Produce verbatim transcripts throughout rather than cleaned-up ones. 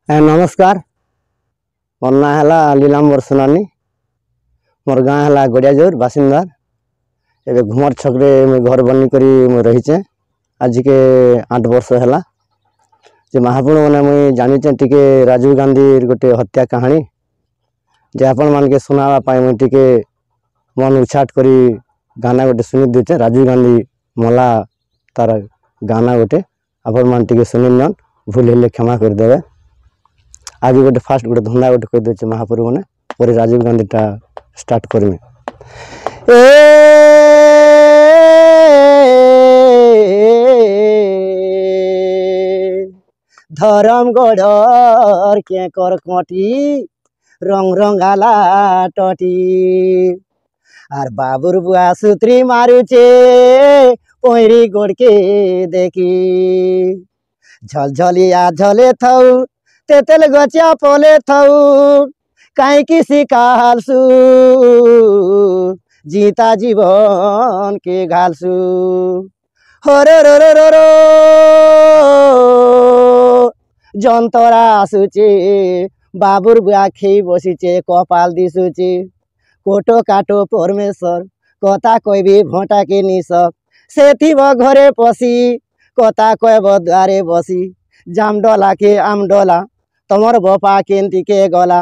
ନମସ୍କାର, ମୋର ନାଁ ହେଲା ଲୀଲାମ୍ବର ସୁନାନୀ। ମୋର ଗାଁ ହେଲା ଗଡ଼ିଆଜୋର ବାସିନ୍ଦାର। ଏବେ ଘୁମର ଛକରେ ମୁଇଁ ଘର ବନେଇ କରି ମୁଇଁ ରହିଛେଁ। ଆଜିକେ ଆଠ ବର୍ଷ ହେଲା ଯେ ମହାପୁଣ ମାନେ ମୁଇଁ ଜାଣିଛେଁ ଟିକେ ରାଜୀବ ଗାନ୍ଧୀର ଗୋଟେ ହତ୍ୟା କାହାଣୀ ଯେ ଆପଣମାନକେ ଶୁଣାବା ପାଇଁ ମୁଇଁ ଟିକେ ମନ ଉଛାଟ କରି ଗାନା ଗୋଟେ ଶୁଣି ଦେଇଛେ। ରାଜୀବ ଗାନ୍ଧୀ ମଲା ତାର ଗାନା ଗୋଟେ ଆପଣମାନେ ଟିକେ ଶୁଣି ନିଅନ୍, ଭୁଲ ହେଲେ କ୍ଷମା କରିଦେବେ। ଆଜି ଗୋଟେ ଫାଷ୍ଟ ଗୋଟେ ଧନ୍ଦା ଗୋଟେ କହିଦେଉଛେ ମହାପ୍ରଭୁ ମାନେ, ପରେ ରାଜୀବ ଗାନ୍ଧୀଟା ଷ୍ଟାର୍ଟ କରିମି। ଏ ଧରମଗଡ଼ର କେକର କଟି ରଙ୍ଗ ରଙ୍ଗାଲା ଟଟି, ଆର୍ ବାବୁର ବୁଆ ସୁତ୍ରୀ ମାରୁଛେ ପଇଁରି ଗୋଡ଼କେ ଦେଖି। ଝଲଝଲିଆ ଝଲେ ଥାଉ ତେତେଲ ଗଛିଆ ପଲେ ଥାଉ, କାହିଁକି ଶିଖାଲସୁ ଜିତା ଜୀବନ କେ ଘାଲସୁ। ହର ର ର ର ଯନ୍ତରା ଆସୁଛେ, ବାବୁର ବୁଆ ଖେଇ ବସିଛେ କପାଲ ଦିଶୁଛେ। କୋଟ କାଟୋ ପରମେଶ୍ୱର କଥା କହିବି ଭଟାକେ ନିଶ, ସେ ଥିବ ଘରେ ପଶି କଥା କହିବ ଦ୍ୱାରେ ବସି। ଜାମଡଲା କେ ଆମଡଲା ତମର ବପା କେନ୍ତି କେ ଗଲା,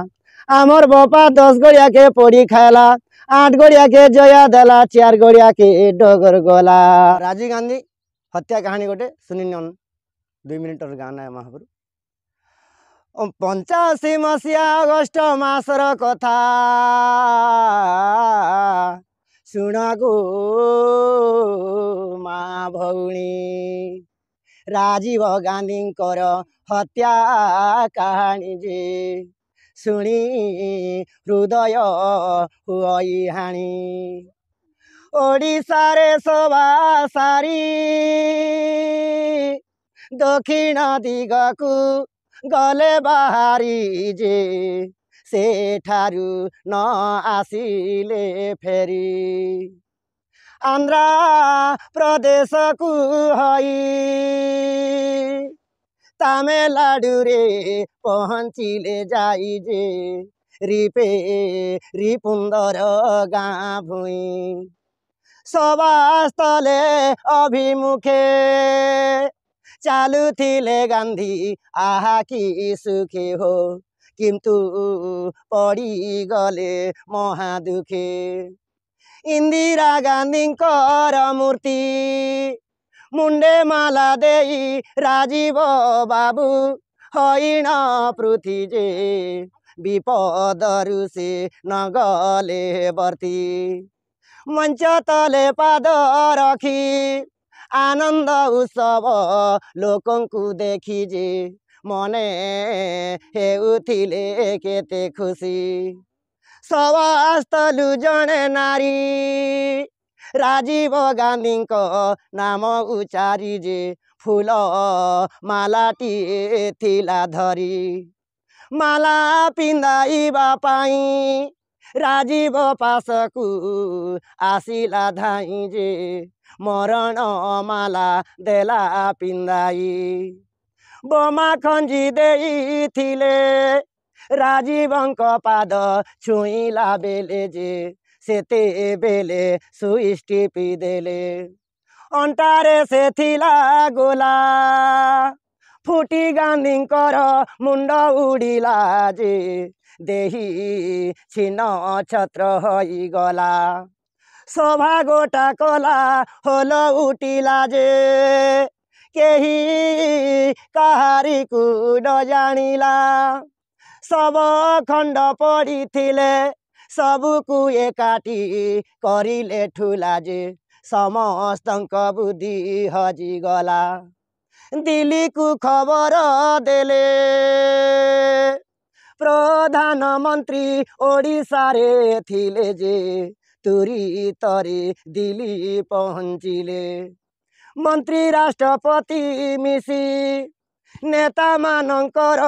ଆମର ବପା ଦଶ ଗଡ଼ିଆକେ ପଡ଼ି ଖାଇଲା, ଆଠ ଗଡ଼ିଆକେ ଜୟା ଦେଲା, ଚାର ଗଡ଼ିଆକେ ଡଗର ଗଲା। ରାଜୀବ ଗାନ୍ଧୀ ହତ୍ୟା କାହାଣୀ ଗୋଟେ ଶୁଣି ନିଅନ୍, ଦୁଇ ମିନିଟର ଗାନା ମହାପ୍ରଭୁ। ପଞ୍ଚାଅଶୀ ମସିହା ଅଗଷ୍ଟ ମାସର କଥା ଶୁଣ ଗୋ ମା ଭଉଣୀ, ରାଜୀବ ଗାନ୍ଧୀଙ୍କର ହତ୍ୟା କାହାଣୀ ଯେ ଶୁଣି ହୃଦୟ ହୁଅଇ ହାଣି। ଓଡ଼ିଶାରେ ସଭା ସାରି ଦକ୍ଷିଣ ଦିଗକୁ ଗଲେ ବାହାରି ଯେ, ସେଠାରୁ ନ ଆସିଲେ ଫେରି। ଆନ୍ଧ୍ର ପ୍ରଦେଶକୁ ହଇ ତାମିଲନାଡ଼ୁରେ ପହଞ୍ଚିଲେ ଯାଇ ଯେ, ରିପେ ରିପୁନ୍ଦର ଗାଁ ଭୂଇଁ। ସଭାସ୍ଥଲେ ଅଭିମୁଖେ ଚାଲୁଥିଲେ ଗାନ୍ଧୀ ଆହା କି ସୁଖେ ହୋ, କିନ୍ତୁ ପଡ଼ିଗଲେ ମହାଦୁଃଖେ। ଇନ୍ଦିରା ଗାନ୍ଧୀଙ୍କର ମୂର୍ତ୍ତି ମୁଣ୍ଡେ ମାଲା ଦେଇ ରାଜୀବ ବାବୁ ହଇଣ ପୃଥି ଯେ, ବିପଦରୁ ସେ ନଗଲେ ବର୍ତ୍ତି। ମଞ୍ଚ ତଲେ ପାଦ ରଖି ଆନନ୍ଦ ଉତ୍ସବ ଲୋକଙ୍କୁ ଦେଖି ଯେ, ମନେ ହେଉଥିଲେ କେତେ ଖୁସି। ସଭାସ୍ଥଲୁ ଜଣେ ନାରୀ ରାଜୀବ ଗାନ୍ଧୀଙ୍କ ନାମ ଉଚାରି ଯେ, ଫୁଲ ମାଲାଟିଏ ଥିଲା ଧରି। ମାଲା ପିନ୍ଧାଇବା ପାଇଁ ରାଜୀବ ପାଶକୁ ଆସିଲା ଧାଇଁ ଯେ, ମରଣ ମାଲା ଦେଲା ପିନ୍ଧାଇ। ବୋମା ଖଞ୍ଜି ଦେଇଥିଲେ ରାଜୀବଙ୍କ ପାଦ ଛୁଇଁଲା ବେଲେ ଯେ, ସେତେବେଲେ ସୁଇଚ୍ ଟିପି ଦେଲେ। ଅଣ୍ଟାରେ ସେ ଥିଲା ଗୋଲା ଫୁଟି ଗାନ୍ଧୀଙ୍କର ମୁଣ୍ଡ ଉଡ଼ିଲା ଯେ, ଦେହି ଛିନ ଛତ୍ର ହୋଇଗଲା। ସଭା ଗୋଟା କଲା ହୋଲ ଉଠିଲା ଯେ, କେହି କାହାରିକୁ ନ ଜାଣିଲା। ଶବ ଖଣ୍ଡ ପଡ଼ିଥିଲେ ସବୁକୁ ଏକାଠି କରିଲେ ଠୁଲା ଯେ, ସମସ୍ତଙ୍କ ବୁଦ୍ଧି ହଜିଗଲା। ଦିଲ୍ଲୀକୁ ଖବର ଦେଲେ ପ୍ରଧାନମନ୍ତ୍ରୀ ଓଡ଼ିଶାରେ ଥିଲେ ଯେ, ତୁରିତରେ ଦିଲ୍ଲୀ ପହଞ୍ଚିଲେ। ମନ୍ତ୍ରୀ ରାଷ୍ଟ୍ରପତି ମିଶି ନେତାମାନଙ୍କର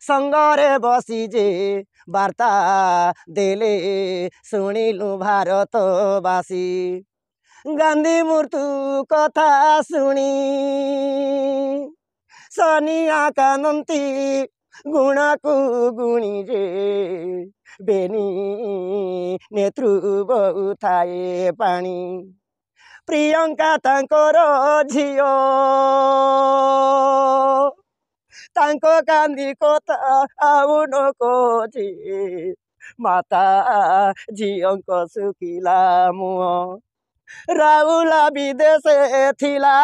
ସଙ୍ଗରେ ବସି ଯେ, ବାର୍ତ୍ତା ଦେଲେ ଶୁଣିଲୁ ଭାରତବାସୀ। ଗାନ୍ଧୀ ମୃତ୍ୟୁ କଥା ଶୁଣି ସୋନିଆ କାନ୍ଦନ୍ତି, ଗୁଣକୁ ଗୁଣି ଯେ ବେନି ନେତୃ ବହୁଥାଏ ପାଣି। ପ୍ରିୟଙ୍କା ତାଙ୍କର ଝିଅ, ତାଙ୍କ କାନ୍ଦି କଥା ଆଉ ନ କହୁଛି। ମାତା ଝିଅଙ୍କ ଶୁଖିଲା ମୁହଁ। ରାଉଲା ବିଦେଶେ ଥିଲା,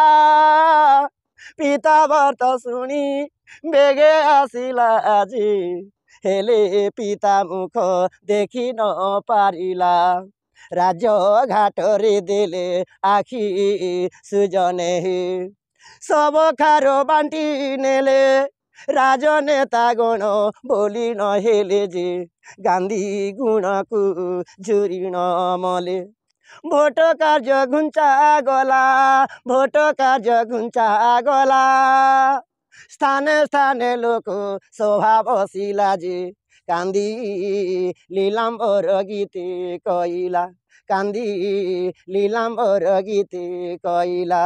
ପିତା ବାର୍ତ୍ତା ଶୁଣି ବେଗେ ଆସିଲା ଆଜି, ହେଲେ ପିତା ମୁଖ ଦେଖି ନ ପାରିଲା। ରାଜ ଘାଟରେ ଦେଲେ ଆଖି ସୁଜନେ, ସବ ଖାର ବାଣ୍ଟି ନେଲେ ରାଜନେତା ଗଣ। ବୋଲି ନହେଲେ ଯେ ଗାନ୍ଧୀ ଗୁଣକୁ ଝୁରି ନ ମଲେ। ଭୋଟ କାର୍ଯ୍ୟ ଘୁଞ୍ଚା ଗଲା, ଭୋଟ କାର୍ଯ୍ୟ ଘୁଞ୍ଚା ଗଲା, ସ୍ଥାନେ ସ୍ଥାନେ ଲୋକ ସଭା ବସିଲା ଯେ କାନ୍ଦି ଲୀଳାମ୍ବର ଗୀତେ କହିଲା, କାନ୍ଦି ଲୀଳାମ୍ବର ଗୀତେ କହିଲା।